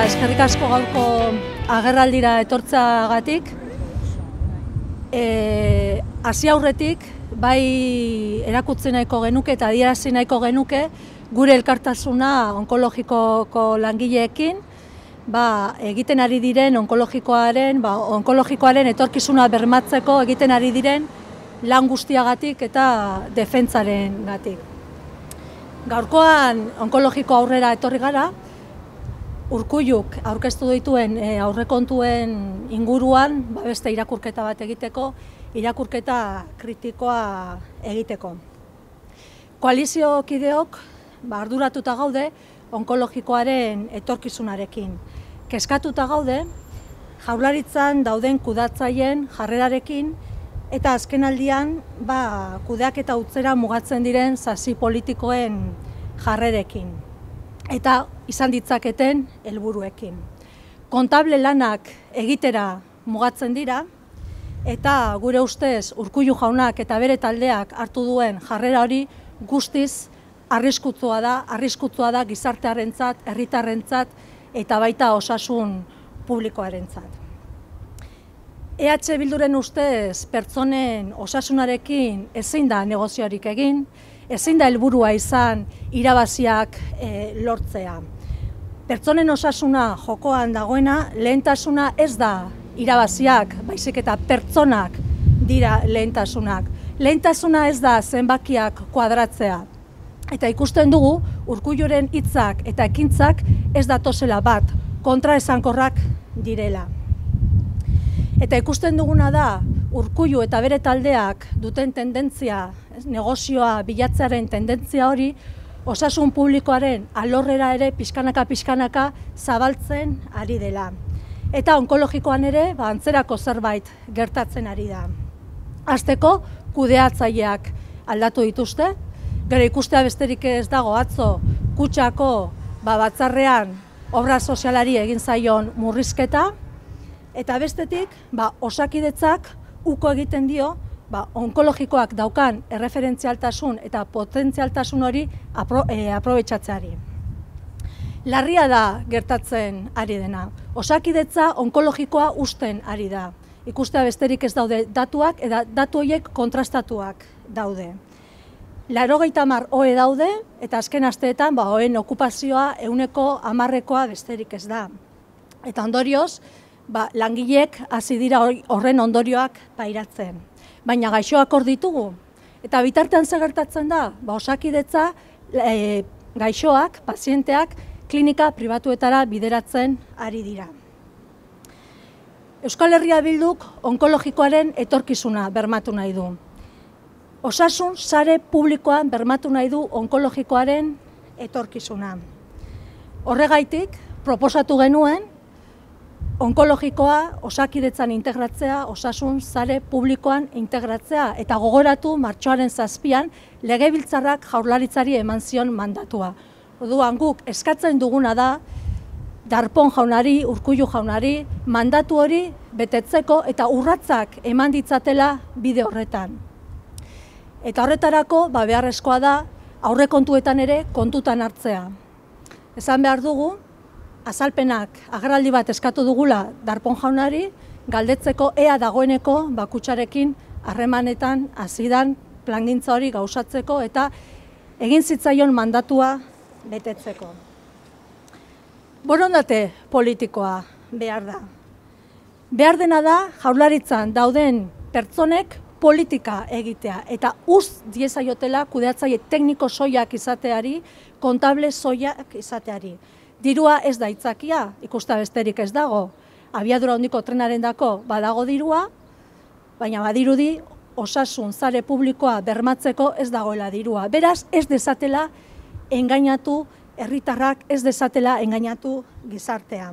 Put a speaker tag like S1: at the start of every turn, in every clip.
S1: eskerrik asko gaurko agerraldira etortzeagatik. Hasi aurretik, bai erakutsi nahiko genuke eta adierazi nahiko genuke gure elkartasuna onkologikoko langileekin, egiten ari diren onkologikoaren etorkizuna bermatzeko egiten ari diren lan guztiagatik eta defentsarengatik. Gaurkoan onkologiko aurrera etorri gara, Urkulluk aurkeztu dituen aurrekontuen inguruan beste irakurketa bat egiteko, irakurketa kritikoa egiteko. Koaliziokideok arduratuta gaude onkologikoaren etorkizunarekin. Kezkatuta gaude Jaurlaritzan dauden kudeatzaileen jarrerarekin eta azkenaldian kudeaketa utzera mugatzen diren sasi politikoen jarrerekin eta izan ditzaketen helburuekin. Kontable lanak egitera mugatzen dira eta gure ustez Urkullu jaunak eta bere taldeak hartu duen jarrera hori guztiz arriskutsua da gizartearentzat, herritarrentzat eta baita osasun publikoarentzat. EH Bilduren ustez pertsonen osasunarekin ezin da negoziorik egin, ezin da helburua izan irabaziak lortzea. Pertsonen osasuna jokoan dagoena, lehentasuna ez da irabaziak, baizik eta pertsonak dira lehentasunak. Lehentasuna ez da zenbakiak kuadratzea. Eta ikusten dugu, Urkulluren hitzak eta ekintzak ez datozela bat, kontraesankorrak direla. Eta ikusten duguna da, Urkullu eta bere taldeak duten tendentzia, negozioa bilatzearen tendentzia hori, osasun publikoaren alorrera ere pixkanaka zabaltzen ari dela. Eta onkologikoan ere antzerako zerbait gertatzen ari da. Hasteko, kudeatzaileak aldatu dituzte, gero ikustea besterik ez dago atzo Kutxako batzarrean obra sozialari egin zaion murrizketa, eta bestetik Osakidetzak uko egiten dio onkologikoak daukan erreferentzialtasun eta potentzialtasun hori aprobetxatzeari. Larria da gertatzen ari dena. Osakidetza onkologikoa uzten ari da. Ikustea besterik ez daude datuak eta datu horiek kontrastatuak daude. 80 OE daude eta azken asteetan OEen okupazioa 110%koa besterik ez da. Eta ondorioz, langileek hasi dira horren ondorioak pairatzen. Baina gaixoak hor ditugu. Eta bitartean zer gertatzen da? Osakidetza gaixoak, pazienteak, klinika pribatuetara bideratzen ari dira. Euskal Herria Bilduk onkologikoaren etorkizuna bermatu nahi du. Osasun sare publikoan bermatu nahi du onkologikoaren etorkizuna. Horregaitik, proposatu genuen onkologikoa Osakidetzan integratzea, osasun sare publikoan integratzea, eta gogoratu martxoaren 7an Legebiltzarrak Jaurlaritzari eman zion mandatua. Orduan guk eskatzen duguna da Darpón jaunari, Urkullu jaunari, mandatu hori betetzeko eta urratsak eman ditzatela bide horretan. Eta horretarako beharrezkoa da aurrekontuetan ere kontutan hartzea. Esan behar dugu, azalpenak agerraldi bat eskatu dugula Darpón jaunari, galdetzeko ea dagoeneko Kutxarekin harremanetan hasidan plangintza hori gauzatzeko eta egin zitzaion mandatua betetzeko. Borondate politikoa behar da. Behar dena da Jaurlaritzan dauden pertsonek politika egitea eta diezaiotela kudeatzaile tekniko soilak izateari, kontable soilak izateari. Dirua ez da aitzakia, ikusta besterik ez dago. Abiadura handiko trenarendako badago dirua, baina badirudi osasun sare publikoa bermatzeko ez dagoela dirua. Beraz, ez dezatela engainatu herritarrak, ez dezatela engainatu gizartea.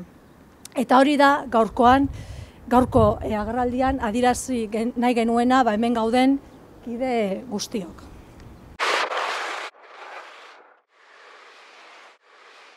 S1: Eta hori da gaurko agerraldian adierazi nahi genuena hemen gauden kide guztiok.